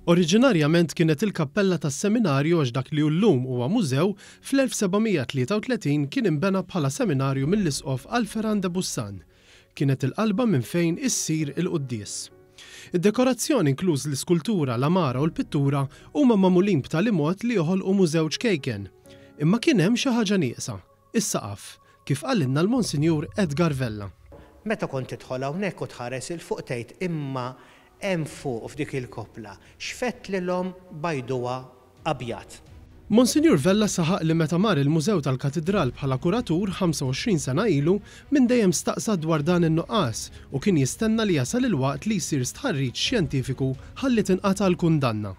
Oriġinarjament kienet il-kappella tas-seminarju għax dak li hu llum huwa mużew, fl-1733 kien inbena bħala seminarju mill-Isqof Alpheran de Bussan. Kienet il-qalba minn fejn issir il-quddies. Id-dekorazzjoni inkluż l-iskultura, l-għamara u l-pittura huma magħmulin b'tali mod li joħolqu mużew ċkejken. Imma kien hemm xi ħaġa nieqsa, is-saqaf, kif qalilna l-Monsinjur Edgar Vella. Meta kont tidħol hawnhekk u tħares 'il fuq tgħid imma Hemm fuq f'dik il-koppla x'fettlilhom bajduha abjad. Monsinjur Vella saħaq li meta mar il-Mużew tal-Katidral bħala kuratur 25 sena ilu, minn dejjem staqsa dwar dan in-nuqqas u kien jistenna li jasal il-waqt li jsir stħarriġ xjentifiku ħalli tinqata' l-kundanna.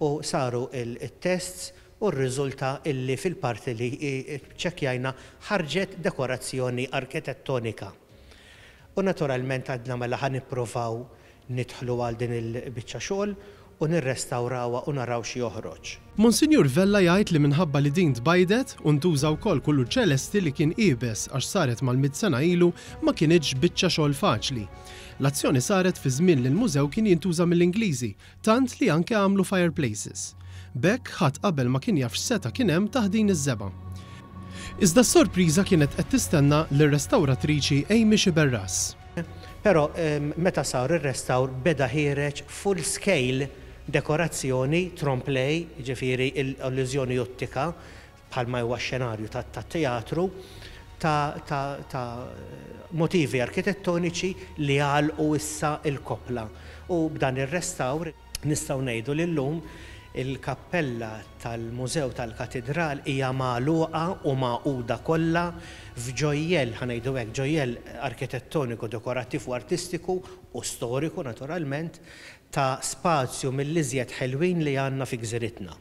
U saru t-tests u rriżulta illi fil-parti li ċċekkjajna ħarġet dekorazzjoni arkitettonika. U naturalment għadna mela ħa nippruvaw nidħlu għal din il-biċċa xogħol u nirrestawrawha u naraw x'joħroġ. Monsinjur Vella jgħid li minħabba li din tbajdet u ntuża wkoll kulur ċelesti li kien iebes għax saret mal-mitt sena ilu ma kinitx biċċa xogħol faċli. L-azzjoni saret fi żmien li l-mużew kien jintuża mill-Ingliżi tant li anke għamlu fireplaces. B'hekk ħadd qabel ma kien jaf x'seta' kien hemm taħt din iż-żebgħa. Iżda s-sorpriża kienet qed tistenna lir-restawratriċi Amy Sciberras. Però meta sar ir-restawr beda ħiereġ full scale dekorazzjoni trompe l'oeil, jiġifieri l-illużjoni ottika bħalma huwa x-xenarju tat-teatru, ta' motivi arkitettoniċi li għalqu issa l-koppla. U b'dan ir-restawr nistgħu ngħidu li llum il-kappella tal-Mużew tal-Katidral hija magħluqa u magħquda kollha f'ġojjell, ħa ngħidu hekk, ġojjell arkitettoniku, dekorattiv u artistiku u storiku naturalment, ta' spazju mill-iżjed ħelwin li għandna fi gżiritna.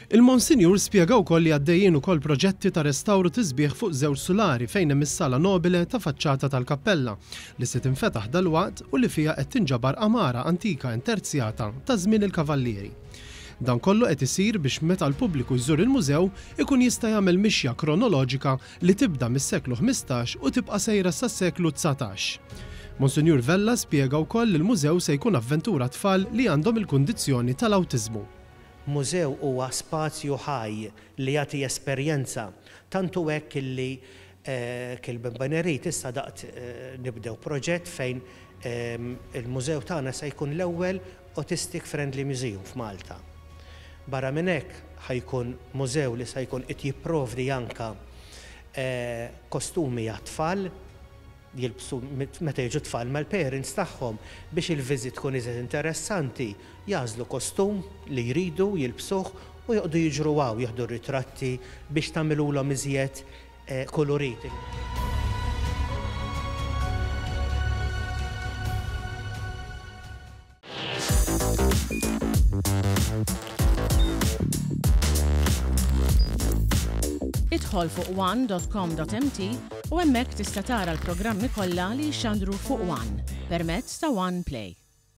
Il-Monsinjur spjega wkoll li għaddejjin ukoll proġetti ta' restawr u tisbiħ fuq żewġ sulari fejn hemm is-sala nobile ta' faċċata tal-kappella, li se tinfetaħ dalwaqt u li fiha qed tinġabar għamara antika interzjata ta' żmien il-Kavallieri. Dan kollu qed isir biex meta l-pubbliku jżur il-mużew ikun jista' jagħmel mixja kronoloġika li tibda mis-seklu 15 u tibqa' sejra sas-seklu 19. Monsinjur Vella spjega wkoll li l-mużew se jkun avventura għat-tfal li għandhom il-kundizzjoni tal-awtiżmu. Mużew huwa spazju ħaj li jagħti esperjenza. Tant hu hekk illi Kilbenbenerit issa daqt nibdew proġett fejn il-mużew tagħna se jkun l-ewwel Autistic Friendly Museum f'Malta. Barra minn hekk ħa jkun mużew li se jkun qed jipprovdi anke kostumi għat-tfal jilbsu meta jiġu t-tfal mal-parents tagħhom biex il-visit tkun iżjed interessanti, jagħżlu kostum li jridu jilbsuh u joqogħdu jiġru hawn jieħdu r-ritratti biex tagħmilulhom iżjed kulurit. Idħol fuq one.com.mt u hemmhekk tista' tara l-programmi kollha li jixxandru fuq One permezz ta' One Play.